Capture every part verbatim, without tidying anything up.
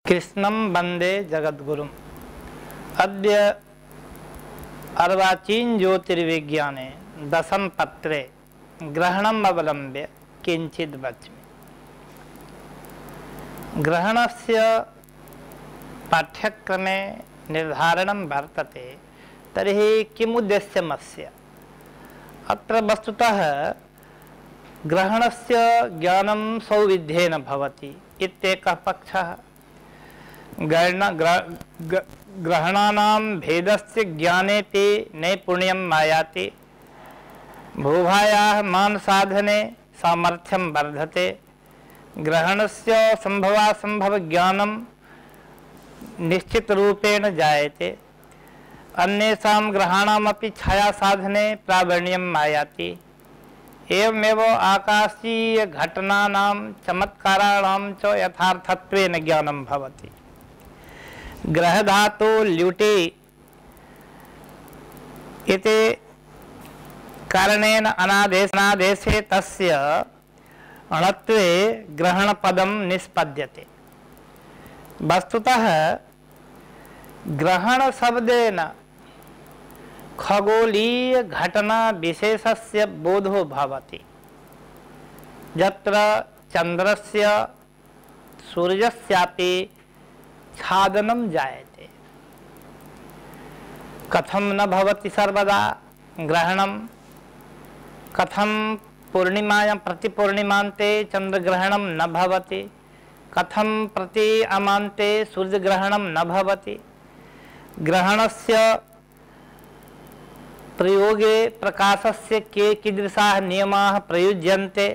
कृष्णं वंदे जगद्गुरुम्। अद्य अर्वाचीन ज्योतिर्विज्ञाने दशम पत्रे ग्रहणम् अवलम्ब्य किंचित् वच्मि। ग्रहणस्य पाठ्यक्रमे निर्धारणं वर्तते, तर्हि किमुद्देश्यमस्य? अत्र वस्तुतः ग्रहणस्य ज्ञानं सौविध्येन भवति इत्येकः पक्षः। ग्रहणानां भेदस्य ज्ञानेऽपि नैपुण्यं आयाति। भूभायाः मानसाधने सामर्थ्यं वर्धते। ग्रहणस्य सम्भवासम्भवज्ञानं निश्चितरूपेण जायते। अन्येषां ग्रहाणामपि छायासाधने प्रावीण्यम् आयाति। एवमेव आकाशीयघटनानां चमत्काराणां च यथार्थत्वेन ज्ञानं भवति। ग्रहधातु ल्युटि इति कारणेन अनादेशनादेशे तस्य अणत्वे ग्रहणपदं निष्पद्यते। वस्तुतः ग्रहणशब्देन खगोलीय घटना विशेषस्य बोधो भवति, यत्र चंद्रस्य सूर्यस्यापि छादनं जायते। कथं न भवति सर्वदा ग्रहणं? कथं पूर्णिमायां प्रतिपूर्णिमान्ते चंद्रग्रहणं न भवति? कथं प्रति अमान्ते सूर्यग्रहणं न भवति? ग्रहणस्य प्रयोगे प्रकाशस्य के कीदृशाः नियमाः प्रयुज्यन्ते?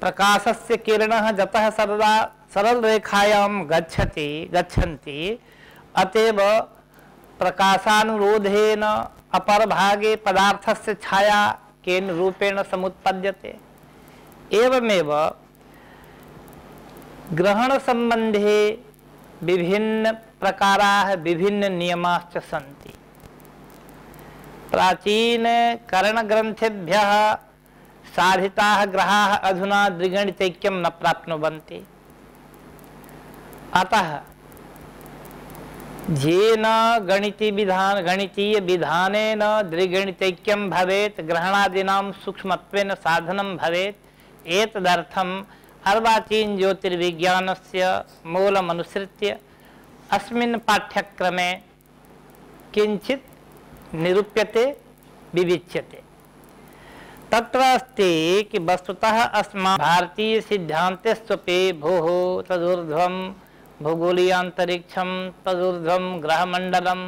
प्रकाशस्य किरणः जतः सर्वदा सरलरेखायां गच्छति गच्छन्ति, अतएव प्रकाशानुरोधेन अपरभागे पदार्थस्य छाया केन रूपेण समुत्पद्यते। एवमेव ग्रहणसम्बन्धे विभिन्न प्रकाराः विभिन्न नियमाश्च सन्ति। प्राचीन करणग्रन्थेभ्यः साधिताः ग्रहाः अधुना द्विगणितैक्यं न प्राप्नुवन्ति। अतः येन गणितीय विधान गणितीय विधानेन द्विगणितैक्यं भवेत्, ग्रहणादीनां सूक्ष्मत्वेन साधनं भवेत्। एतदर्थम् अर्वाचीन ज्योतिर्विज्ञानस्य मूलमनुसृत्य अस्मिन् पाठ्यक्रमे किञ्चित् निरूप्यते, विविच्यते। तत्र अस्ति कि वस्तुतः अस्माकं भारतीय सिद्धान्तेष्वपि भूः तदूर्ध्वं भूगोलीयान्तरिक्षं, तदूर्ध्वं ग्रहमण्डलं,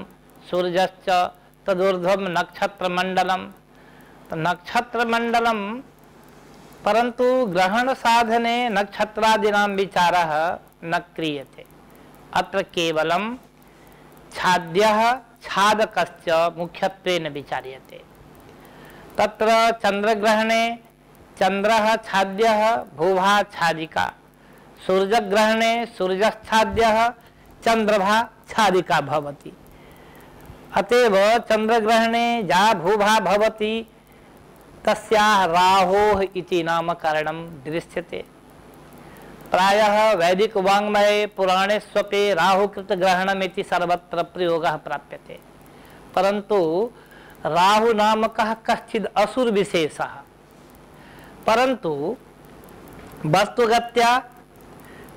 सूर्यश्च तदूर्ध्वं नक्षत्रमण्डलं। तो नक्षत्रमण्डलं, परन्तु ग्रहणसाधने नक्षत्रादीनां विचारः न क्रियते। अत्र केवलं छाद्यः छादकश्च मुख्यत्वेन विचार्यते। तत्र चंद्रग्रहणे चंद्रः छाद्यः भूभा छादिका, सूर्यग्रहणे सूर्यश्छाद्यः चंद्रभा छादिका भवति। अतएव चंद्रग्रहणे या भूभा भवति तस्याः राहोः इति नामकरणं दृश्यते। प्रायः वैदिक वाङ्मये पुराणेष्वपि राहुकृतग्रहणमिति सर्वत्र प्रयोगः प्राप्यते। परन्तु राहु नामकः कश्चिद् असुर विशेषः, परन्तु वस्तुगत्या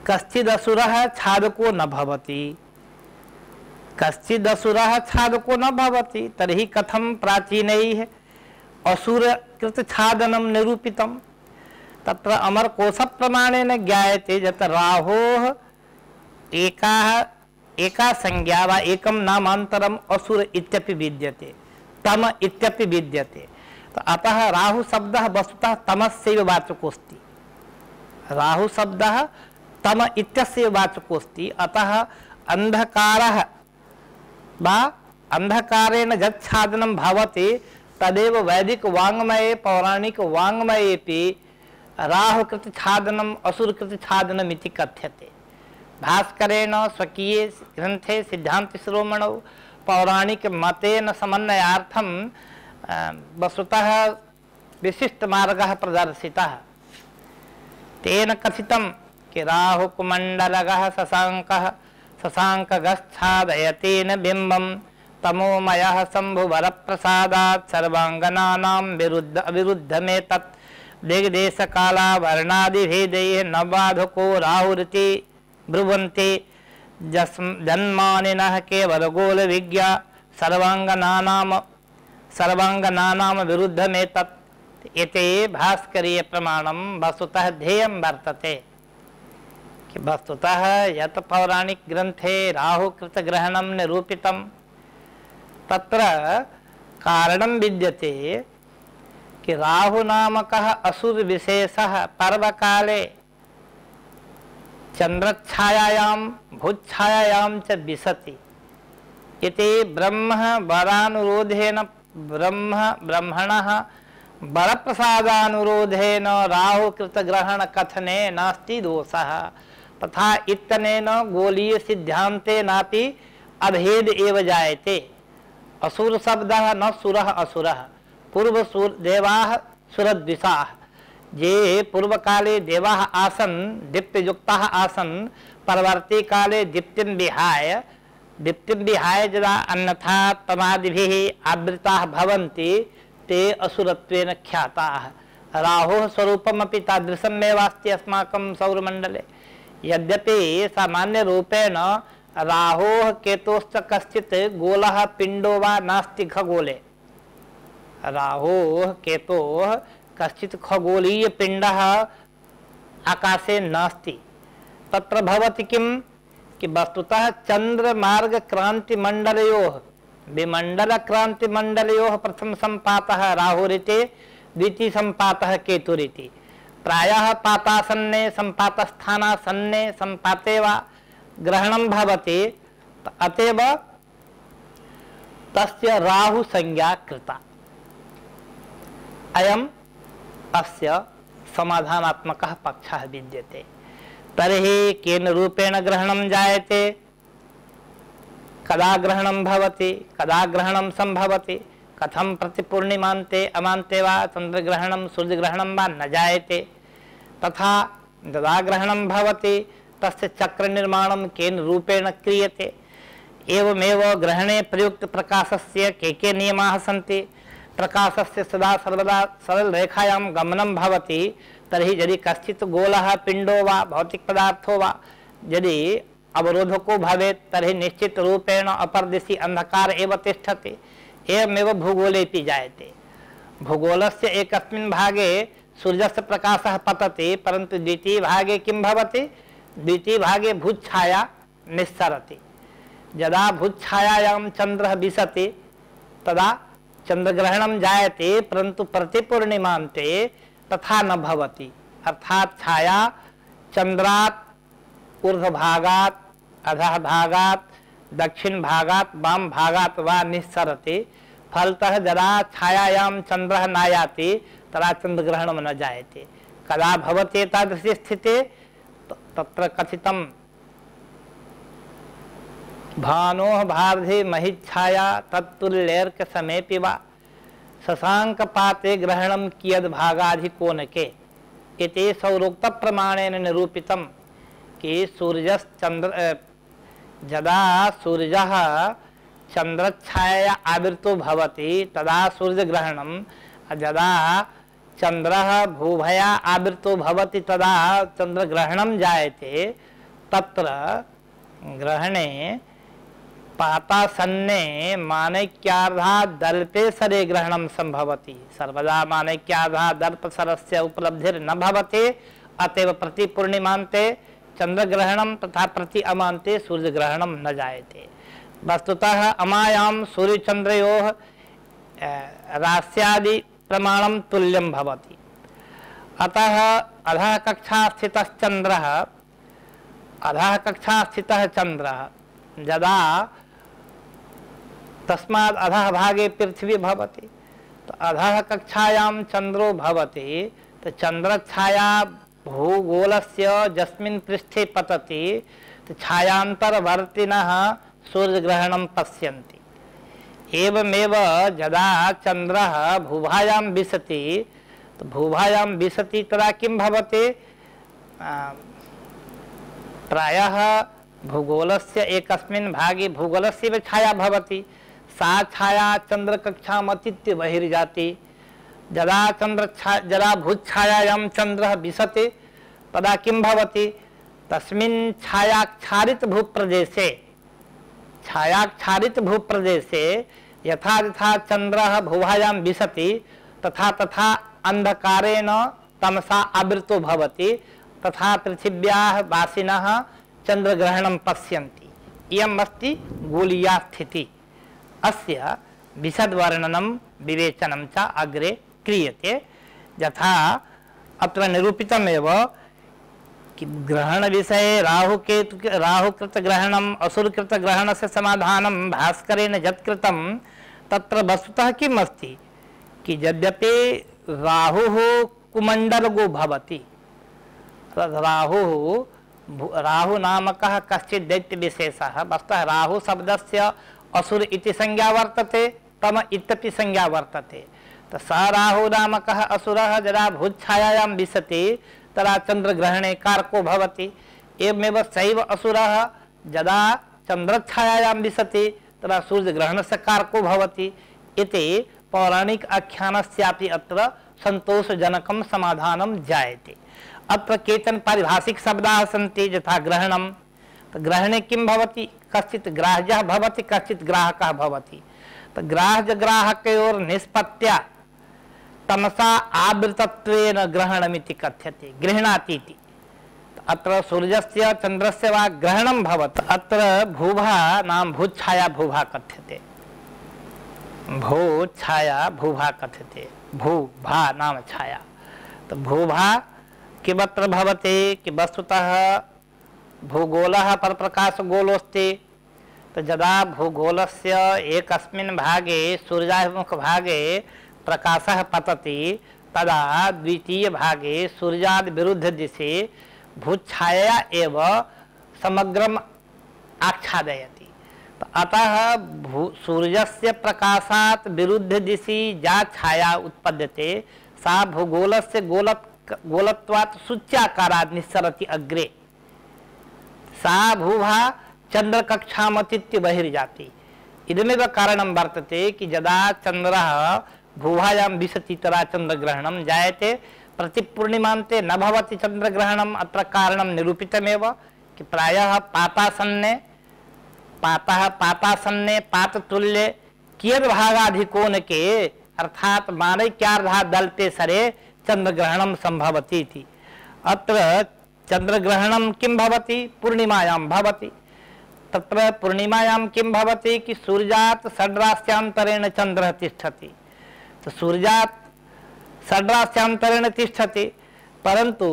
कश्चिद् असुरः छादको न भवति। कश्चिद् असुरः छादको न भवति, तर्हि कथं प्राचीनैः असुरकृत छादनं निरूपितं? तत्र अमरकोशप्रमाणेन ज्ञायते यत् राहोः एकाः एका संज्ञा वा एकं नामान्तरम् असुर इत्यपि विद्यते, तम इत्यपि विद्यते। तो अतः राहु शब्दः वस्तुतः तमस्यैव वाचकोऽस्ति। राहु शब्दः तम इत्यस्य वाचकोऽस्ति। अतः अंधकारः वा अंधकारेण यच्छादनं भवति तदेव वैदिक वाङ्मये पौराणिक वाङ्मयेपि राहुकृत छादनम् असुरकृत छादनम् इति कथ्यते। भास्करेण स्वकीये ग्रन्थे सिद्धान्तशिरोमणौ पौराणिक मतेन समन्वयार्थं वस्तुतः विशिष्टमार्गः प्रदर्शितः। तेन कथितं कि राहुकुमण्डलगः शशाङ्कः शशाङ्कगच्छादयतेन बिम्बं तमोमयः शम्भुवरप्रसादात् सर्वाङ्गनानां विरुद्ध अविरुद्धमेतत् दिग्देशकालावर्णादिभेदैः नवाधको राहुरिति ब्रुवन्ति जन्मानिनः केवलगोलविज्ञा सर्वाङ्गनानां सर्वाङ्गनानां विरुद्धमेतत् इति भास्करीय प्रमाणं वस्तुतः ध्येयं वर्तते कि वस्तुतः यत् पौराणिक ग्रन्थे राहुकृतग्रहणं निरूपितं तत्र कारणं विद्यते कि राहुनामकः असुरविशेषः पर्वकाले चन्द्रच्छायायां भूच्छायायां च विशति इति ब्रह्म वरानुरोधेन ब्रह्म ब्रह्मणः वरप्रसादानुरोधेन राहुकृतग्रहणकथने नास्ति दोषः तथा इत्यनेन गोलीय सिद्धान्तेनापि अभेद एव जायते। असुर शब्दः न सुरः असुरः पूर्व सुर देवाः सुरद्विषाः ये पूर्वकाले देवाः आसन् दीप्तियुक्ताः आसन् परवर्ती काले दीप्तिं विहाय दीप्तिं विहाय यदा अन्यथा तमादिभिः आवृताः भवन्ति ते असुरत्वेन ख्याताः। राहोः स्वरूपमपि तादृशमेवास्ति अस्माकं सौरमण्डले यद्यपि सामान्यरूपेण राहोः केतोश्च कश्चित् गोलः पिण्डो वा नास्ति खगोले। राहोः केतोः कश्चित् खगोलीय पिण्डः आकाशे नास्ति। तत्र भवति किं कि वस्तुतः चन्द्रमार्ग क्रांतिमण्डलयोः विमण्डलक्रांतिमण्डलयोः प्रथम सम्पातः राहुरिति द्वितीय सम्पातः केतुरिति। प्रायः पातासन्ने सम्पातस्थानासन्ने सम्पाते वा ग्रहणं भवति अतएव तस्य राहु संज्ञा कृता। अयम् अस्य समाधानात्मकः पक्षः विद्यते। तर्हि केन रूपेण ग्रहणं जायते, कदा ग्रहणं भवति, कदा ग्रहणं संभवति, कथं प्रतिपूर्णिमान्ते अमान्ते वा चन्द्रग्रहणं सूर्यग्रहणं वा न जायते, तथा यदा ग्रहणं भवति तस्य चक्रनिर्माणं केन रूपेण क्रियते, एवमेव ग्रहणे प्रयुक्त प्रकाशस्य के के नियमाः सन्ति। प्रकाशस्य सदा सर्वदा सरलरेखायां गमनं भवति तर्हि यदि कश्चित् गोलः पिण्डो वा भौतिकपदार्थो वा यदि अवरोधको भवेत् तर्हि निश्चित रूपेण अपरदिशि अंधकार एव तिष्ठति। एवमेव भूगोलेपि जायते। भूगोलस्य एकस्मिन् भागे सूर्यस्य प्रकाशः पतति परन्तु द्वितीय भागे किं भवति, द्वितीय भागे भूच्छाया निस्सरति। यदा भूच्छायायां चन्द्रः विशति तदा चन्द्रग्रहणं जायते परन्तु प्रतिपूर्णिमान्ते तथा न भवति। अर्थात् छाया चन्द्रात् ऊर्ध्वभागात् अधः भागात् दक्षिण भागात् वाम भागात् वा निस्सरति। फलतः यदा छायायां चन्द्रः नायाति तदा चन्द्रग्रहणं न जायते। कदा भवति एतादृशी स्थितिः, तत्र कथितं भानोः भारधि महिच्छाया तत्तुल्यैर्क समेपि वा शशाङ्कपाते ग्रहणं कियद्भागाधिकोनके इति सौरोक्त प्रमाणेन निरूपितं कि सूर्यश्चन्द्र यदा सूर्यः चन्द्रच्छाया आवृतो भवति तदा सूर्यग्रहणं, यदा चन्द्रः भूभया आवृतो भवति तदा चन्द्रग्रहणं जायते। तत्र ग्रहणे पातासन्ने मानैक्यार्धात् दल्पेसरे ग्रहणं संभवति। सर्वदा मानैक्यार्धात् दल्पसरस्य उपलब्धिर्न भवति। अतएव प्रतिपूर्णिमान्ते चन्द्रग्रहणं तथा प्रति अमान्ते सूर्यग्रहणं न जायते। वस्तुतः अमायां सूर्यचन्द्रयोः रास्यादि प्रमाणं तुल्यं भवति। अतः अधः कक्षा स्थितः चन्द्रः अधः कक्षा स्थितः चन्द्रः यदा तस्माद् अधः भागे पृथ्वी भवति तो अधः कक्षायां चन्द्रो भवति तो चन्द्रछाया भूगोलस्य यस्मिन् पृष्ठे पतति तो छायांतरवर्तिनः सूर्यग्रहणं पश्यन्ति। एवमेव यदा चन्द्रः भूभायां विशति तो भूभायां विशति तदा किं भवति, प्रायः भूगोलस्य एकस्मिन् भागे भूगोलस्य छाया भवति, सा छाया चंद्रकक्षाम् अतीत्य बहिर्जाति। यदा चंद्र यदा भूच्छायायां चंद्रः विशति तदा किं भवति, तस्मिन् छायाच्छादित भूप्रदेशे छायाच्छादित भूप्रदेशे यथा यथा चंद्रः भुवायां विशति तथा तथा अंधकारेण तमसा आवृतो भवति, तथा पृथिव्याः वासिनः चंद्रग्रहणं पश्यन्ति। इयम् अस्ति गोलीया स्थितिः। अस्य विशदवर्णनं विवेचनं च अग्रे क्रियते। यथा अत्र निरूपितमेव कि ग्रहण विषये राहुकेतु राहुकृत ग्रहणम् असुरकृत ग्रहणस्य समाधानं भास्करेण यत्कृतं तत्र वस्तुतः किम् अस्ति कि यद्यपि राहुः कुमण्डलगो भवति, राहुः राहु नामकः कश्चित् दैत्यविशेषः, वस्तुतः राहु शब्दस्य असुर इति संज्ञा वर्तते, तम इत्यपि संज्ञा वर्तते। तो स राहु नामकः असुरः यदा भूच्छायायां विशति तदा चंद्रग्रहणे कारको भवति। एवमेव सैव असुरः यदा चंद्रछायायां विशति तदा सूर्यग्रहणस्य कारको भवति इति पौराणिक आख्यानस्यापि अत्र संतोषजनकं समाधानं जायते। अत्र केचन पारिभाषिक शब्दाः सन्ति, यथा ग्रहणं। तो ग्रहणे किं भवति, कश्चित् ग्राह्यः भवति, कश्चित् ग्राहकः भवति। तो ग्राह्य ग्राहकयोर् निष्पत्त्या तमसा आवृतत्वेन ग्रहणमिति कथ्यते, गृह्णाति इति। अत्र सूर्यस्य चंद्रस्य वा ग्रहणं भवति। अत्र भूभा नाम भूच्छाया भूभा कथ्यते, भूच्छाया भूभा कथ्यते, भूभा नाम छाया। तो भूभा किमत्र भवति कि वस्तुतः भूगोलः परप्रकाशगोलोऽस्ति। तो यदा भूगोलस्य एकस्मिन् भागे सूर्याभिमुख भागे प्रकाशः पतति तदा द्वितीय भागे सूर्याद् विरुद्ध दिशि भूच्छाया एव समग्रम् आच्छादयति। तो अतः भू सूर्यस्य प्रकाशात् विरुद्ध दिशि या छाया उत्पद्यते सा भूगोलस्य गोलक गोलत्वात् सूच्याकारात् निस्सरति अग्रे। सा भूभा चंद्रकक्षामतीत्य बहिर्जाति। इदमेव कारणं वर्तते कि यदा चंद्रः भूभायां विशति तदा चंद्रग्रहणं जायते, प्रतिपूर्णिमान्ते न भवति चंद्रग्रहणम्। अत्र कारणं निरूपितमेव कि प्रायः पातासन्ने पातः पातासन्ने पाततुल्ये कियद्भागाधिकोणके अर्थात मानैक्यार्धा दल्ते सरे चंद्रग्रहणं संभवति इति। अत्र चंद्रग्रहणं किं भवति, पूर्णिमायां भवति। तत्र पूर्णिमायां किं भवति कि सूर्यात् षड्रास्यान्तरेण चंद्रः तिष्ठति। तो सूर्यात् षड्रास्यान्तरेण तिष्ठति, परन्तु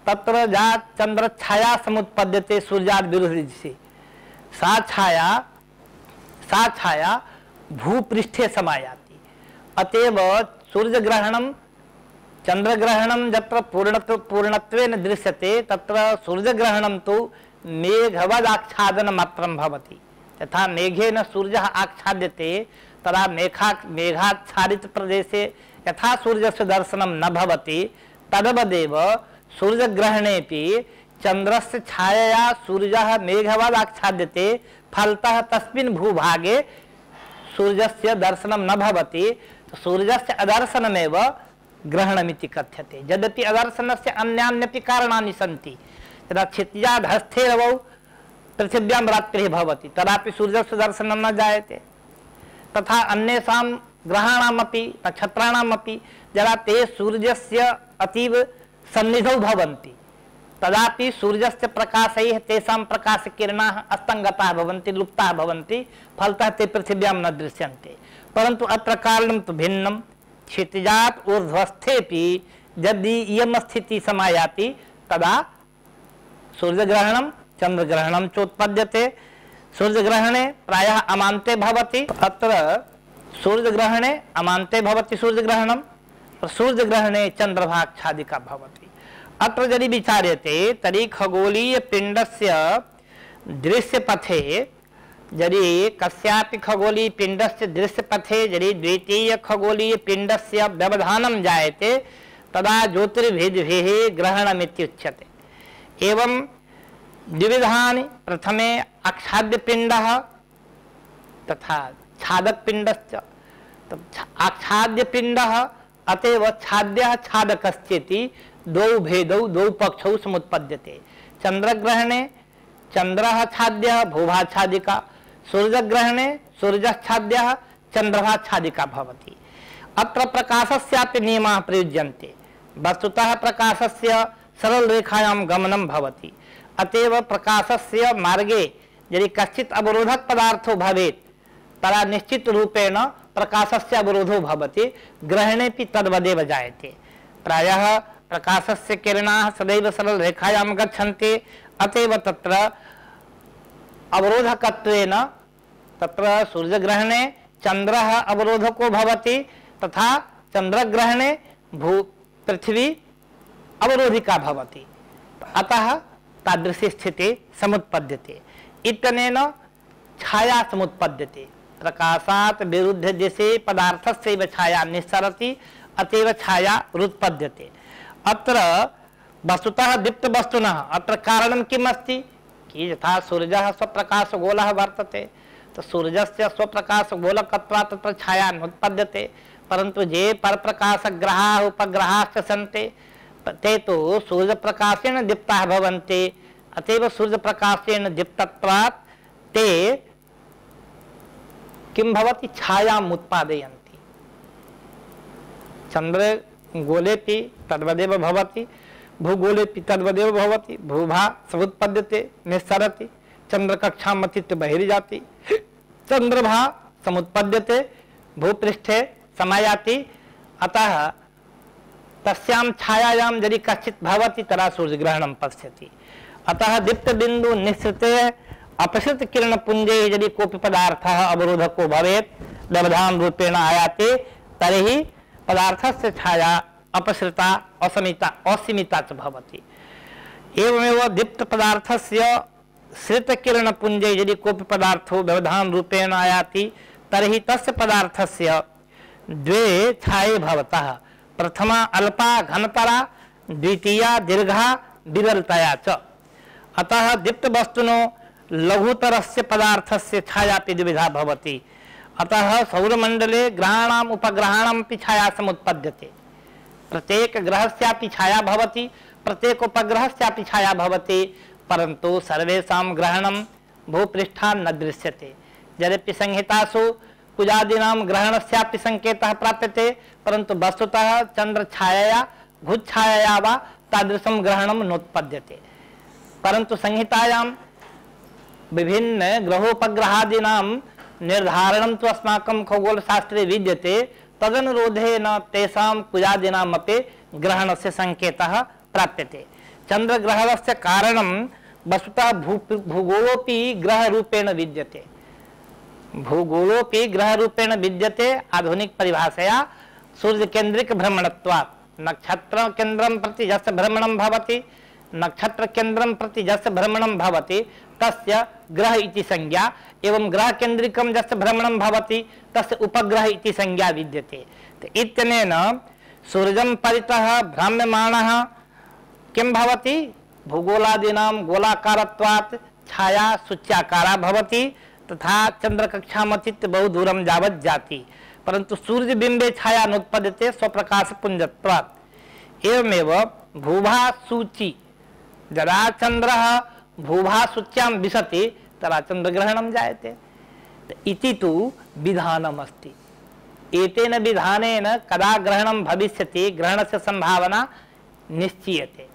तत्र या चंद्रछाया समुत्पद्यते सूर्यात् विरुद्धदिशि, सा छाया सा छाया भूपृष्ठे समायाति। अतएव सूर्यग्रहणं चंद्रग्रहणं यत्र पूर्णत्व पूर्णत्वेन दृश्यते तत्र सूर्यग्रहणं तु मेघवदाच्छादन मात्रं भवति। यथा मेघेन सूर्यः आच्छाद्यते तदा मेघा मेघाच्छादित प्रदेशे यथा सूर्यस्य दर्शनं न भवति तद्वदेव सूर्यग्रहणेपि चंद्रस्य छायया सूर्यः मेघवद् आच्छाद्यते, फलतः तस्मिन् भूभागे सूर्यस्य दर्शनं न भवति। तो सूर्यस्य अदर्शनमेव ग्रहणमिति कथ्यते। यद्यपि अदर्शनस्य अन्यान्यपि कारणानि सन्ति। यदा क्षितिजाद् हस्ते रवौ पृथिव्यां रात्रिः भवति तदापि सूर्यस्य दर्शनं न जायते। तथा अन्येषां ग्रहाणामपि नक्षत्राणामपि यदा ते सूर्यस्य अतीव सन्निधौ भवन्ति तदापि सूर्यस्य प्रकाशैः तेषां प्रकाशकिरणाः अस्तङ्गताः भवन्ति, लुप्ताः भवन्ति, फलतः ते पृथिव्यां न दृश्यन्ते। परन्तु अत्र कारणं तु भिन्नं। क्षितिजात् ऊर्ध्वस्थेपि यदि इयं स्थितिः समायाति तदा सूर्यग्रहणं चंद्रग्रहणं चोत्पद्यते। सूर्यग्रहणे प्रायः अमान्ते भवति। अत्र सूर्यग्रहणे अमान्ते भवति सूर्यग्रहणं, सूर्यग्रहणे चंद्रभाच्छादिका भवति। अत्र यदि विचार्यते तर्हि खगोलीय पिंडस्य दृश्यपथे यदि कस्यापि खगोलीय पिंडस्य दृश्यपथे यदि द्वितीय खगोलीय पिंडस्य व्यवधानं जायते तदा ज्योतिर्भिद्भिः ग्रहणमित्युच्यते। एवं द्विविधानि, प्रथमे आच्छाद्यपिण्डः तथा छादकपिण्डश्च। आच्छाद्यपिण्डः अतएव छाद्यः छादकश्चेति द्वौ भेदौ द्वौ पक्षौ समुत्पद्यते। चंद्रग्रहणे चंद्रः छाद्यः भूभाच्छादिका, सूर्यग्रहणे सूर्यश्छाद्यः चंद्रभाच्छादिका भवति। अत्र प्रकाशस्यापि नियमाः प्रयुज्यन्ते। वस्तुतः प्रकाशस्य सरलरेखायां गमनं भवति, अतएव प्रकाशस्य मार्गे यदि कश्चित् अवरोधक पदार्थो भवेत् तदा निश्चित रूपेण प्रकाशस्य अवरोधो भवति, ग्रहणेपि तद्वदेव जायते। प्रायः प्रकाशस्य किरणाः सदैव सरलरेखायां गच्छन्ति, अतएव तत्र अवरोधकत्वेन तत्र सूर्यग्रहणे चंद्रः अवरोधको भवति तथा चंद्रग्रहणे भू पृथ्वी अवरोधिका भवति। अतः तादृशी स्थितिः समुत्पद्यते। इत्यनेन छाया समुत्पद्यते। प्रकाशात् विरुद्ध दिशि पदार्थस्यैव छाया निस्सरति, अतएव छाया उत्पद्यते। अत्र वस्तुतः दीप्तवस्तुनः अत्र कारणं किम् अस्ति कि यथा सूर्यः स्वप्रकाशगोलः वर्तते, तो सूर्यस्य स्वप्रकाशगोलकत्वात् तत्र छाया नोत्पद्यते, परन्तु ये परप्रकाशग्रहाः उपग्रहाश्च सन्ति ते तो सूर्यप्रकाशेन दीप्ताः भवन्ति, अतएव सूर्यप्रकाशेन दीप्तत्वात् ते किं भवति छायाम् उत्पादयन्ति। चन्द्रगोलेपि तद्वदेव भवति, भूगोलेपि तद्वदेव भवति। भूभा समुत्पद्यते निस्सरति, चंद्रकक्षाम् अतीत्य बहिर्जाति, चंद्रभा समुत्पद्यते भूपृष्ठे समायाति। अतः तस्यां छायायां यदि कश्चित् भवति तदा सूर्यग्रहणं पश्यति। अतः दीप्तबिन्दु निःसृते अपसृत किरणपुञ्जे यदि कोऽपि पदार्थः अवरोधको भवेत् व्यवधान रूपेण आयाति तर्हि पदार्थस्य छाया अपसृता असमिता असीमिता च भवति। एवमेव दीप्त पदार्थस्य श्रित किरणपुञ्जे यदि कोऽपि पदार्थो व्यवधान रूपेण आयाति तर्हि तस्य पदार्थस्य द्वे छाये भवतः, प्रथमा अल्पा घनतरा, द्वितीया दीर्घा विरलतया च। अतः दीप्त वस्तुनो लघुतरस्य पदार्थस्य छायापि द्विविधा भवति। अतः सौरमण्डले ग्रहाणाम् उपग्रहाणामपि छाया समुत्पद्यते। प्रत्येक ग्रहस्यापि छाया भवति, प्रत्येक उपग्रहस्यापि छाया भवति, परन्तु सर्वेषां ग्रहणं भूपृष्ठात् न दृश्यते। यद्यपि संहितासु कुजादीनां ग्रहणस्यापि संकेतः प्राप्यते, परन्तु वस्तुतः चन्द्रछायया भूच्छायया वा तादृशं ग्रहणं नोत्पद्यते। परन्तु संहितायां विभिन्न ग्रहोपग्रहादीनां निर्धारणं तु अस्माकं खगोलशास्त्रे विद्यते, तदनुरोधेन तेषां कुजादीनामपि ग्रहणस्य संकेतः प्राप्यते। चन्द्रग्रहणस्य कारणं वस्तुतः भू भूगोलोऽपि ग्रहरूपेण विद्यते। भूगोलोऽपि ग्रहरूपेण विद्यते आधुनिक परिभाषया सूर्यकेन्द्रिक भ्रमणत्वात्। नक्षत्रकेन्द्रं प्रति यस्य भ्रमणं भवति, नक्षत्रकेन्द्रं प्रति यस्य भ्रमणं भवति तस्य ग्रह इति संज्ञा, एवं ग्रहकेन्द्रिकं यस्य भ्रमणं भवति तस्य उपग्रह इति संज्ञा विद्यते। इत्यनेन सूर्यं परितः भ्राम्यमाणः किं भवति, भूगोलादीनां गोलाकारत्वात् छाया सूच्याकारा भवति तथा चंद्रकक्षामतीत्य बहु दूरं यावत् जाति, परन्तु सूर्यबिम्बे छाया नोत्पद्यते स्वप्रकाशपुञ्जत्वात्। एवमेव भूभा सूची यदा चंद्रः भूभा सूच्यां विशति तदा चंद्रग्रहणं जायते इति तु विधानम् अस्ति। एतेन विधानेन कदा ग्रहणं भविष्यति ग्रहणस्य संभावना निश्चीयते।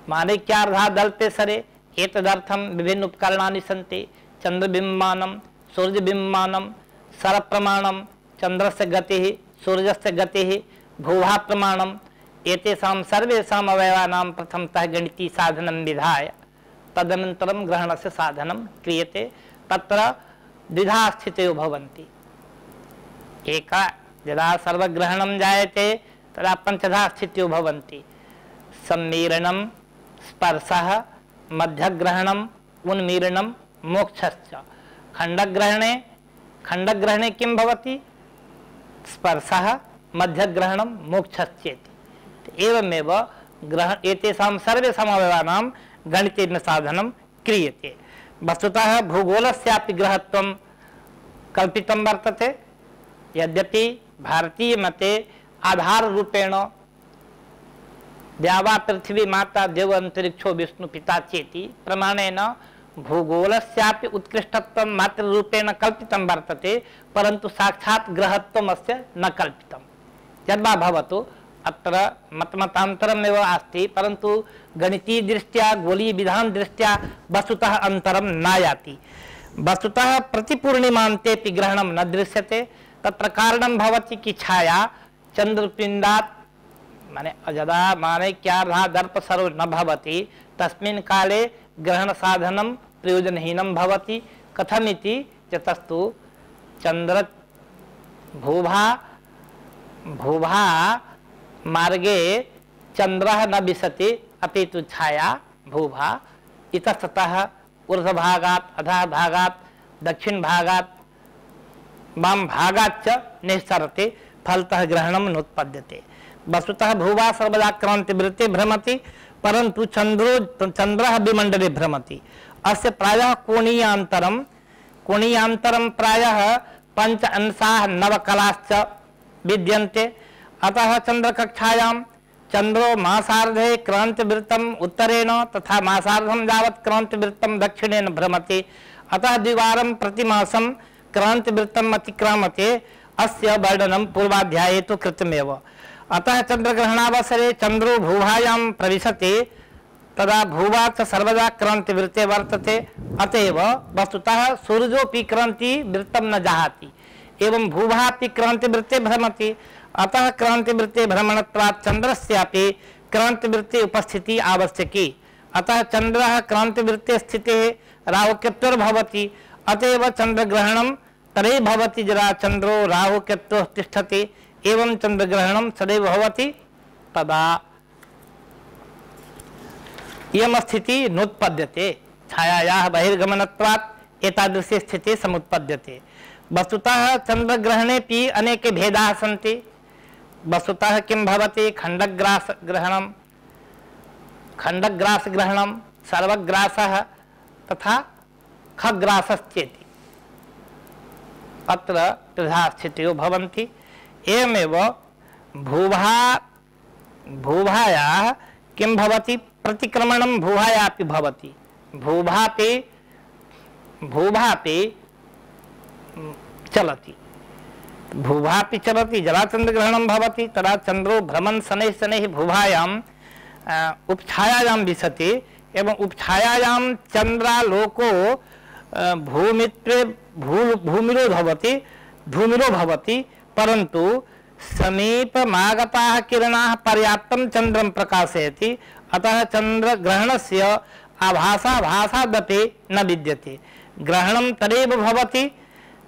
माणिक्यार्धादल्पे सरे एतदर्थं विभिन्न उपकरणानि सन्ति। चंद्रबिम्बानं, सूर्यबिम्बानं, सरप्रमाणं, चंद्रस्य गतिः, सूर्यस्य गतिः, भूभा प्रमाणम्, एतेषां सर्वेषाम् अवयवानां प्रथमतः गणितीय साधनं विधाय तदनन्तरं ग्रहणस्य साधनं क्रियते। तत्र द्विधा स्थितयो भवन्ति। एका यदा सर्वग्रहणं जायते तदा पञ्चधा स्थितयो भवन्ति। सम्मीरणं, स्पर्शः, मध्यग्रहणम्, उन्मीलनं, मोक्षश्च। खण्डग्रहणे खण्डग्रहणे किं भवति, स्पर्शः, मध्यग्रहणं, मोक्षश्चेति। एवमेव ग्रह एतेषां सर्वेषाम् अवयवानां गणितेन साधनं क्रियते। वस्तुतः भूगोलस्यापि ग्रहत्वं कल्पितं वर्तते, यद्यपि भारतीय मते आधार रूपेण द्यावा पृथ्वी माता देव अंतरिक्षो विष्णु पिता चेति प्रमाणेन भूगोलस्यापि उत्कृष्टत्वं मात्र रूपेण कल्पितं वर्तते, परन्तु साक्षात् ग्रहत्वम् अस्य न कल्पितं। यद्वा भवतु अत्र मतमतान्तरमेव अस्ति, परन्तु गणितीय दृष्ट्या गोलीय विधान दृष्ट्या वस्तुतः अंतरं नायाति। वस्तुतः प्रतिपूर्णिमान्तेऽपि ग्रहणं न दृश्यते। तत्र कारणं भवति कि छाया चंद्रपिंडात् माने यदा माने क्यार्धा दर्प सर्व न भवति तस्मिन् काले ग्रहण साधनं प्रयोजनहीनं भवति। कथमिति चतस्तु चंद्र भूभा भूभा मार्गे चंद्रः न विशति अपितु छाया भूभा इतस्ततः ऊर्ध्वभागात् अधः भागात् दक्षिण भागात् वाम भागाच्च निस्सरति, फलतः ग्रहणं नोत्पद्यते। वस्तुतः भूभा सर्वदा क्रांतिवृत्ते भ्रमति, परंतु चंद्रो चंद्रः विमंडले भ्रमति। अस्य प्रायः कोणीयान्तरं कोणीयान्तरं प्रायः पंच अंशाः नवकलाश्च विद्यन्ते। अतः चंद्रकक्षायां चंद्रो मासार्धे क्रांतिवृत्तम् उत्तरेण तथा मासार्धं यावत् क्रांतिवृत्तं दक्षिणेन भ्रमति। अतः द्विवारं प्रतिमासं क्रांतिवृत्तम् अतिक्रामते। अस्य वर्णनं पूर्वाध्याये तु कृतमेव। अतः चंद्रग्रहणावसरे चंद्रो भूभायां प्रविशति, तदा भूभा च सर्वदा क्रांतिवृत्ते वर्तते। अतएव वस्तुतः सूर्योऽपि क्रांतिवृत्तं न जहाति, एवं भूभापि क्रांतिवृत्ते भ्रमति। अतः क्रांतिवृत्ते भ्रमणत्वात् चंद्रस्यापि क्रांतिवृत्ते उपस्थिति आवश्यकी। अतः चंद्रः क्रांतिवृत्ते स्थितिः राहुकेतुर्भवति। अतएव चंद्रग्रहणं तदैव भवति यदा चंद्रो राहुकेतुः तिष्ठति, एवं चंद्रग्रहणं सदैव भवति तदा इयं स्थितिः नोत्पद्यते। छायायाः बहिर्गमनत्वात् एतादृशी स्थितिः समुत्पद्यते। वस्तुतः चंद्रग्रहणेपि अनेके भेदाः सन्ति। वस्तुतः किं भवति खंडग्रास ग्रहणं खंडग्रास ग्रहणं सर्वग्रासः तथा खग्रासश्चेति अत्र त्रिधा स्थितयो भवन्ति। एवमेव भूभा भूभायाः किं भवति प्रतिक्रमणं भूभायापि भवति। भूभापि भूभापि चलति भूभापि चलति यदा चंद्रग्रहणं भवति तदा चंद्रो भ्रमन् शनैः शनैः भूभायां उपछायायां विशति, एवं उपछायायां चंद्रालोको भूमित्वे भू भूमिरो भवति धूमिरो भवति, परंतु समीपमागताः किरणाः पर्याप्तं चंद्रं प्रकाशयति। अतः चंद्रग्रहणस्य आभासाभासादपि न विद्यते। ग्रहणं तदेव भवति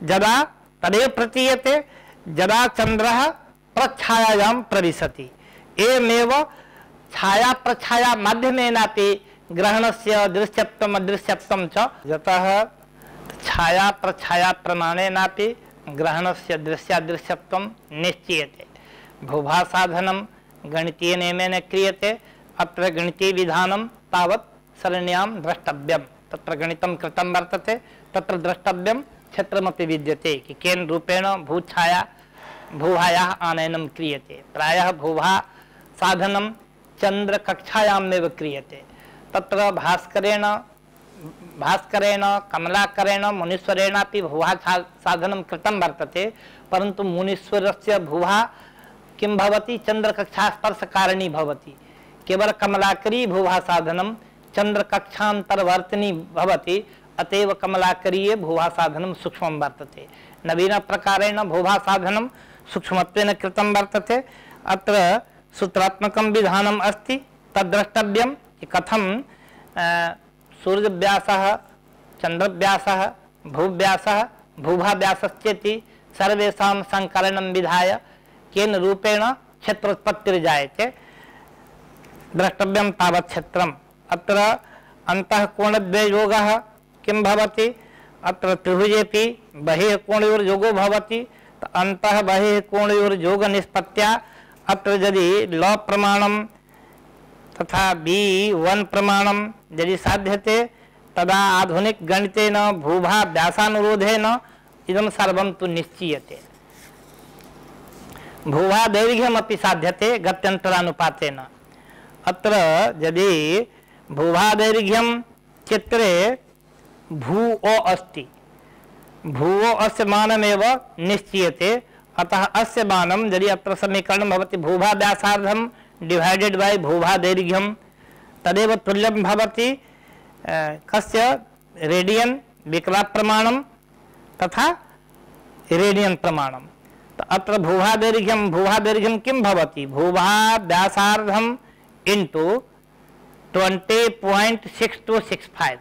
यदा तदेव प्रतीयते यदा चंद्रः प्रच्छायायां प्रविशति। एवमेव छाया प्रच्छाया माध्यमेनापि ग्रहणस्य दृश्यत्वम् अदृश्यत्वं च यतः छाया प्रच्छाया प्रमाणेनापि ग्रहणस्य दृश्यादृश्यत्वं निश्चीयते। भूभा साधनं गणितीय नियमेन क्रियते। अत्र गणितीय विधानं तावत् सरणियां द्रष्टव्यं। तत्र गणितं कृतं वर्तते, तत्र द्रष्टव्यं क्षेत्रमपि विद्यते कि केन रूपेण भूछाया भूभायाः आनयनं क्रियते। प्रायः भूभा साधनं चंद्रकक्षायामेव क्रियते। तत्र भास्करेण भास्करेण कमलाकरेण मुनीश्वरेणापि भूभा साधनं कृतं वर्तते, परन्तु मुनीश्वरस्य भूभा किं भवति चंद्रकक्षा स्पर्शकारिणी भवति। केवल कमलाकरी भूभा साधनं चंद्रकक्षान्तर्वर्तिनी भवति। अतएव कमलाकरीय भूभा साधनं सूक्ष्मं वर्तते। नवीन प्रकारेण भूभा साधनं सूक्ष्मत्वेन कृतं वर्तते। अत्र सूत्रात्मकं विधानम् अस्ति, तद्द्रष्टव्यं कि कथं सूर्यव्यासः चंद्रव्यासः भूव्यासः भूभाव्यासश्चेति सर्वेषां संकलनं विधाय केन रूपेण क्षेत्रोत्पत्तिर्जायते द्रष्टव्यं तावत् क्षेत्रम्। अत्र अन्तःकोणद्वयोगः किं भवति, अत्र त्रिभुजेपि बहिः कोणयोर्योगो भवति। अन्तः बहिः कोणयोर्योग निष्पत्त्या अत्र यदि ल प्रमाणं तथा बी वन प्रमाणं यदि साध्यते तदा आधुनिक गणितेन भूभा व्यासानुरोधेन इदं सर्वं तु निश्चीयते। भूभा दैर्घ्यमपि साध्यते गत्यन्तरानुपातेन। अत्र यदि भूभा दैर्घ्यं चित्रे भूओ अस्ति, भूओ अस्य मानमेव निश्चीयते। अतः अस्य मानं यदि अत्र समीकरणं भवति भूभा व्यासार्धं डिवाइडेड बाय भूभा दैर्घ्यं, तदेव तुल्यं भवति कस्य रेडियन विकला प्रमाणं तथा रेडियन प्रमाणं। तो अत्र भूभा दैर्घ्यं भूभा दैर्घ्यं किं भवति? भूभा व्यासार्धं into twenty point six two six five.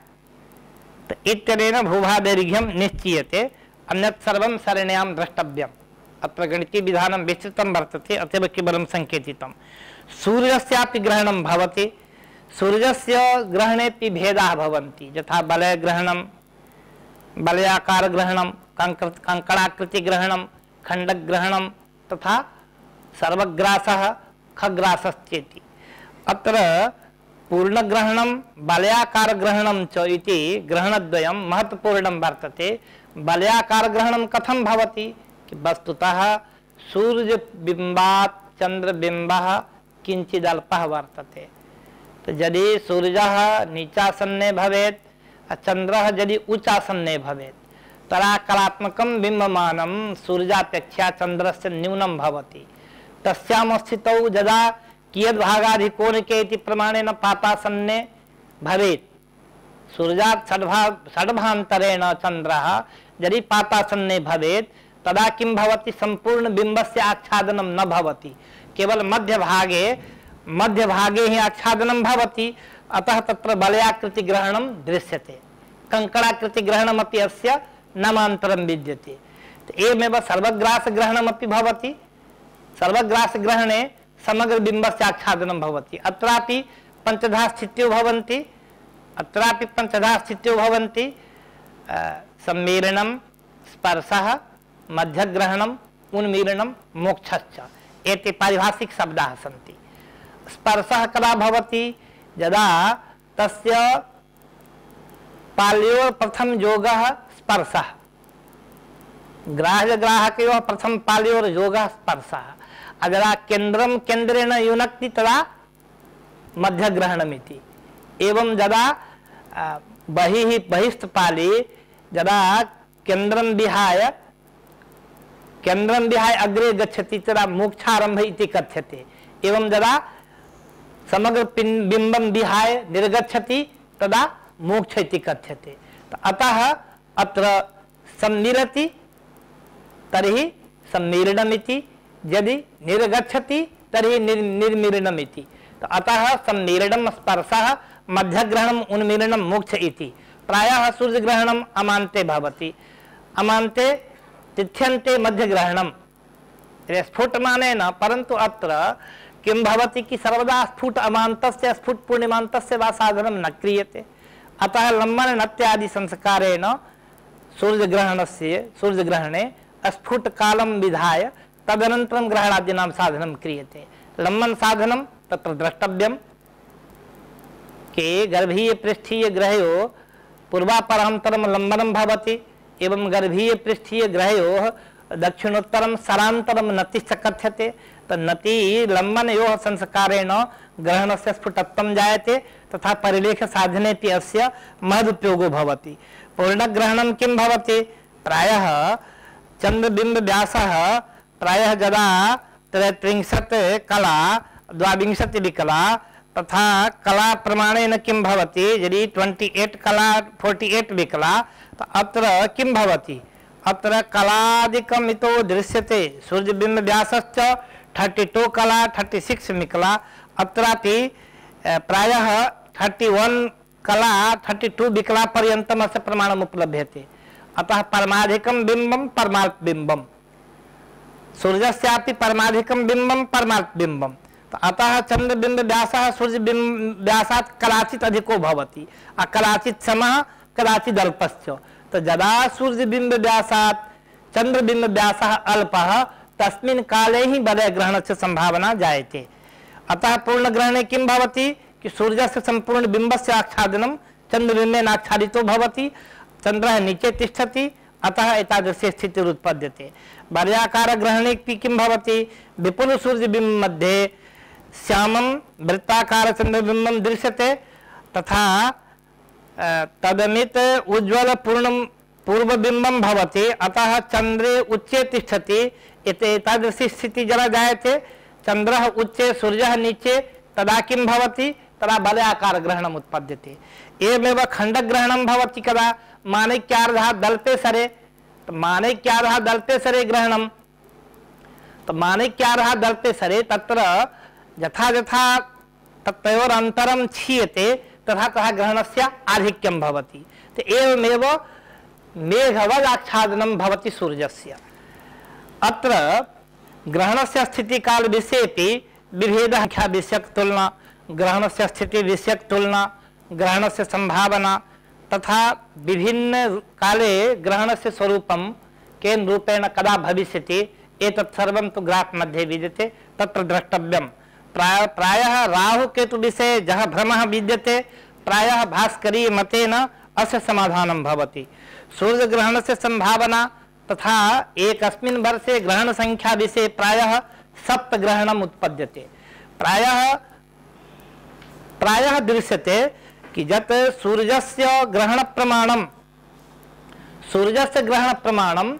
तो इत्यनेन भूभा दैर्घ्यं निश्चीयते। अन्यत् सर्वं सरणियां द्रष्टव्यम्। अत्र गणितीय विधानं विस्तृतं वर्तते, अतएव केवलं संकेतितं। सूर्यस्यापि ग्रहणं भवति। सूर्यस्य ग्रहणेपि भेदाः भवन्ति, यथा वलयग्रहणं, वलयाकारग्रहणं, कंकणाकृतिग्रहणं, खण्डग्रहणं तथा सर्वग्रासः, खग्रासश्चेति। अत्र पूर्णग्रहणं वलयाकारग्रहणं च इति ग्रहणद्वयं महत्वपूर्णं वर्तते। वलयाकारग्रहणं कथं भवति? वस्तुतः सूर्यबिम्बात् चंद्रबिम्बः किंचिदल्पः वर्तते। तो यदि सूर्यः नीचासन्ने भवेत्, चंद्रः यदि उच्चासन्ने भवेत्, तदा कलात्मकं बिम्बमानं सूर्यापेक्षया चंद्रस्य न्यूनं भवति। तस्यां स्थितौ यदा कियद्भागाधिकोणिके इति प्रमाणेन पातासन्ने भवेत्, सूर्यात् षड्भा षड्भान्तरेण चंद्रः यदि पातासन्ने भवेत्, तदा किं भवति? संपूर्ण बिंबस्य आच्छादनं न भवति, केवल मध्यभागे मध्यभागे ही आच्छादनं भवति। अतः तत्र वलयाकृति ग्रहणं दृश्यते। कंकणाकृति ग्रहणमपि अस्य नामान्तरं विद्यते। एवमेव सर्वग्रास ग्रहणमपि भवति। सर्वग्रास ग्रहणे समग्र बिंबस्य आच्छादनं भवति। अत्रापि पंचधा स्थित्यो भवन्ति। अत्रापि पंचधा स्थित्यो भवन्ति। सम्मीलनं, स्पर्शः, मध्यग्रहणम्, उन्मीलनं, मोक्षश्च एते पारिभाषिक शब्दाः सन्ति। स्पर्शः कदा भवति? यदा तस्य पाल्योः प्रथम योगः स्पर्शः, ग्राह्यग्राहकयोः प्रथम पाल्योः योगः स्पर्शः। यदा केन्द्रं केन्द्रेण युनक्ति तदा मध्यग्रहणमिति। एवं यदा बहिः बहिस्थपाले यदा केन्द्रं विहाय केन्द्रं विहाय अग्रे गच्छति तदा मोक्षारंभ इति कथ्यते। एवं यदा समग्र बिंबं विहाय निर्गच्छति तदा मोक्ष इति कथ्यते। तो अतः अत्र सम्मिलति तर्हि सम्मीलनमिति, यदि निर्गच्छति तर्हि निर निर्मीलनमिति। तो अतः सम्मीलनं स्पर्शः, मध्यग्रहणम्, उन्मीलनं, मोक्ष इति। प्रायः सूर्यग्रहणम् अमान्ते भवति। अमान्ते तिथ्यन्ते मध्यग्रहणं स्फुटमानेन, परन्तु अत्र किं भवति कि सर्वदा स्फुट अमान्तस्य स्फुट पूर्णिमान्तस्य वा साधनं न क्रियते। अतः लम्बन नत्यादि संस्कारेण सूर्यग्रहणस्य सूर्यग्रहणे स्फुट कालं विधाय तदनन्तरं ग्रहणादीनां साधनं क्रियते। लम्बन साधनं तत्र द्रष्टव्यं के गर्भीय पृष्ठीय ग्रहयोः पूर्वापरान्तरं लम्बनं भवति। एवं गर्भीय पृष्ठीय ग्रहयोः दक्षिणोत्तरं सरान्तरं नतिश्च कथ्यते। तो नति लम्बनयोः संस्कारेण ग्रहणस्य स्फुटत्वं जायते तथा परिलेख साधनेपि अस्य महदुपयोगो भवति। पूर्णग्रहणं किं भवति? प्रायः चन्द्रबिम्ब व्यासः प्रायः यदा त्रयस्त्रिंशत् कला द्वाविंशति विकला तथा कला प्रमाणेन किं भवति? यदि ट्वेंटी एट कला फोर्टी एट विकला, तो अत्र किं भवति? अत्र कलादिकम् इतो दृश्यते। सूर्यबिम्ब व्यासश्च थर्टी टू कला थर्टी सिक्स विकला। अत्रापि प्रायः थर्टी वन कला थर्टी टू विकला पर्यन्तम् अस्य प्रमाणम् उपलभ्यते। अतः परमाधिकं बिम्बं परमार्थबिम्बं, सूर्यस्यापि परमाधिकं बिम्बं परमार्थबिम्बं। अतः चंद्रबिम्ब व्यासः सूर्यबिम्ब व्यासात् कदाचित् अधिको भवति, कदाचित् समः कदाचित् अल्पश्च। तो यदा सूर्यबिम्ब व्यासात् चंद्रबिम्ब व्यासः अल्पः तस्मिन् काले ही वलयग्रहणस्य संभावना जायते। अतः पूर्णग्रहणे किं भवति कि सूर्यस्य संपूर्ण बिम्बस्य आच्छादनं चंद्रबिंबेन आच्छादितो भवति, चंद्रः नीचे तिष्ठति, अतः एतादृशी स्थितिः उत्पद्यते। वलयाकार ग्रहणे किं भवति, विपुल सूर्यबिंब मध्ये श्यामं वृत्ताकार चंद्रबिंबं दृश्यते, तथा तदमित उज्ज्वल पूर्णं पूर्वबिंबं भवति, अतः चंद्रे उच्चे तिष्ठति। एतादृशी स्थितिः जरा जायते, चंद्रः उच्चे सूर्यः नीचे, तदा किं भवति, तदा वलयाकार ग्रहणम् उत्पद्यते। एवमेव खंडग्रहणं भवति कदा, माणिक्यार्धः दल्पे सरे, तो माणिक्यार्धः दल्पे सरे ग्रहणं, तो माणिक्यार्धः दल्पे सरे तत्र यथा यथा तयोरन्तरं क्षीयते तथा तथा ग्रहणस्य आधिक्यं भवति। तो एवमेव मेघवद् आच्छादनं भवति सूर्यस्य। अत्र ग्रहणस्य स्थितिकाल विषयेपि विभेदः ख्या विषयक तुलना, ग्रहणस्य स्थिति विषयक तुलना, ग्रहणस्य संभावना तथा विभिन्न काले ग्रहणस्य स्वरूपं केन रूपेण कदा भविष्यति एतत् सर्वं तु ग्राफ मध्ये विद्यते, तत्र द्रष्टव्यं। प्राय प्रायः राहु केतु विषये यः भ्रमः विद्यते, प्रायः भास्करीय मतेन अस्य समाधानं भवति। सूर्यग्रहणस्य संभावना तथा एकस्मिन् वर्षे ग्रहण संख्या विषये प्रायः सप्तग्रहणम् उत्पद्यते। प्रायः प्रायः दृश्यते कि यत् सूर्यस्य ग्रहण प्रमाणं सूर्यस्य ग्रहण प्रमाणं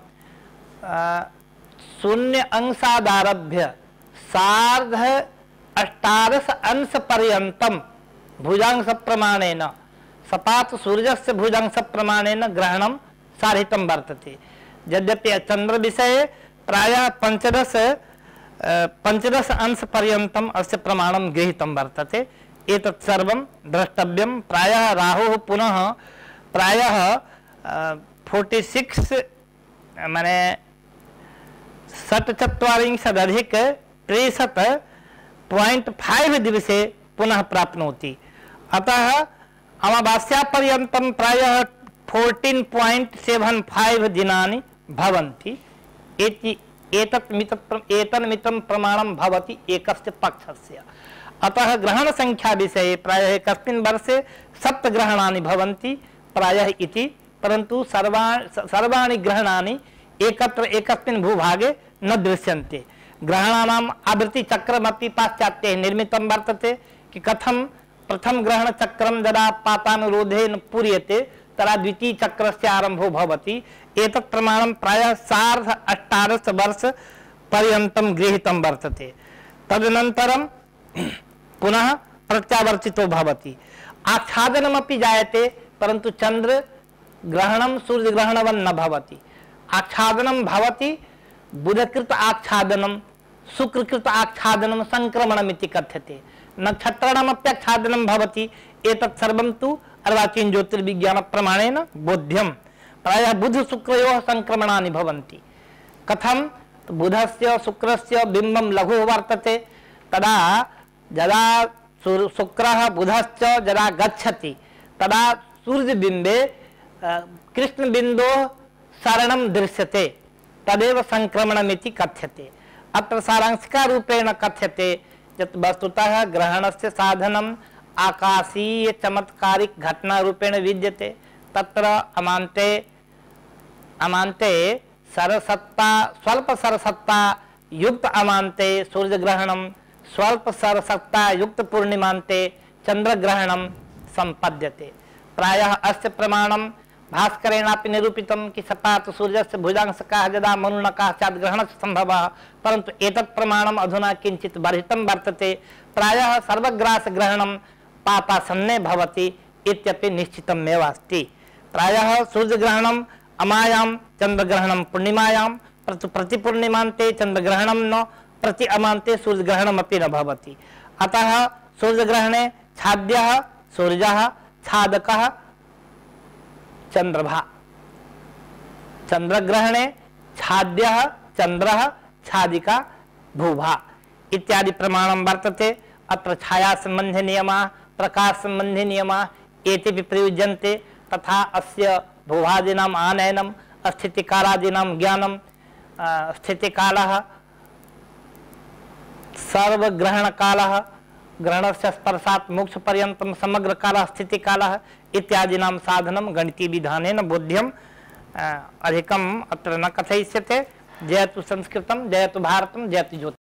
शून्य अंशादारभ्य सार्ध अष्टादश अंश पर्यन्तं भुजांश प्रमाणेन सपात सूर्यस्य भुजांश प्रमाणेन ग्रहणं साधितं वर्तते। यद्यपि चंद्र विषये प्रायः पंचदश पंचदश अंश पर्यन्तम् अस्य प्रमाणं गृहीतं वर्तते। एतत् सर्वं द्रष्टव्यं। प्रायः राहुः पुनः प्रायः फोर्टी सिक्स माने षट्चत्वारिंशदधिक त्रिशत पॉइंट फाइव दिवसे पुनः प्राप्नोति। अतः अमावास्यापर्यन्तं प्रायः फोर्टीन पॉइंट सेवन फाइव दिनानि भवन्ति। एति एतत् मितत् एतन्मितं प्रमाणं भवति एकस्य पक्षस्य। अतः ग्रहण संख्या विषये प्रायः एकस्मिन् वर्षे सप्तग्रहणानि भवन्ति प्रायः इति, परन्तु सर्वा सर्वाणि ग्रहणानि एकत्र एकस्मिन् भूभागे न दृश्यन्ते। ग्रहणानाम् आवृत्तिचक्रमपि पाश्चात्यैः निर्मितं वर्तते कि कथं प्रथम ग्रहण चक्रं यदा पातानुरोधेन पूर्यते तदा द्वितीय चक्रस्य आरम्भो भवति। एतत् प्रमाणं प्रायः सार्ध अष्टादश वर्ष पर्यन्तं गृहीतं वर्तते। तदनन्तरं पुनः प्रत्यावर्तितो भवति। आच्छादनमपि जायते, परन्तु चंद्र ग्रहणं सूर्यग्रहणवन् न भवति। आच्छादनं भवति, बुधकृत आच्छादनं, शुक्रकृत आच्छादनं संक्रमणमिति कथ्यते। नक्षत्राणामप्याच्छादनं भवति। एतत् सर्वं तु अर्वाचीन ज्योतिर्विज्ञान प्रमाणेन बोध्यं। प्रायः बुध शुक्रयोः संक्रमणानि भवन्ति। कथं, बुधस्य शुक्रस्य बिम्बं लघुः वर्तते, तदा यदा शुक्रः बुधश्च यदा गच्छति तदा सूर्यबिम्बे कृष्णबिन्दोः शरणं दृश्यते, तदेव संक्रमणमिति कथ्यते। अत्र सारांशिकारूपेण कथ्यते यत् वस्तुतः ग्रहणस्य साधनम् आकाशीय चमत्कारिक घटना रूपेण विद्यते। तत्र अमान्ते अमान्ते सरसत्ता स्वल्प सरसत्ता युक्त अमान्ते सूर्यग्रहणं, स्वल्प सरसत्ता युक्त पूर्णिमान्ते चंद्रग्रहणं संपद्यते। प्रायः अस्य प्रमाणं भास्करेणापि निरूपितं कि सपात सूर्यस्य भुजांशकाः यदा मनुनकाः स्यात् ग्रहणस्य सम्भवः, परन्तु एतत् प्रमाणम् अधुना किञ्चित् वर्धितं वर्तते। प्रायः सर्वग्रासग्रहणं पापासन्ने भवति इत्यपि निश्चितमेव अस्ति। प्रायः सूर्यग्रहणम् अमायां, चंद्रग्रहणं पूर्णिमायां, परन्तु प्रतिपूर्णिमान्ते चंद्रग्रहणं न, प्रति अमान्ते सूर्यग्रहणमपि न भवति। अतः सूर्यग्रहणे छाद्यः सूर्यः, छादकः चंद्रभा। चंद्रग्रहणे छाद्यः चंद्रः, छादिका भूभा इत्यादि प्रमाणं वर्तते। अत्र छाया संबंधी नियमाः, प्रकाश संबंधी नियमाः एतेपि प्रयुज्यन्ते। तथा अस्य भूभादीनाम् आनयनं, स्थितिकालादीनां ज्ञानं, स्थितिकालः, सर्वग्रहणकालः, ग्रहणस्य स्पर्शात् मोक्षपर्यन्तं समग्रकालः स्थितिकालः इत्यादीनां साधनं गणितीविधानेन बोध्यम्। अधिकम् अत्र न कथयिष्यते। जयतु संस्कृतं, जयतु भारतं, जयतु ज्योतिः।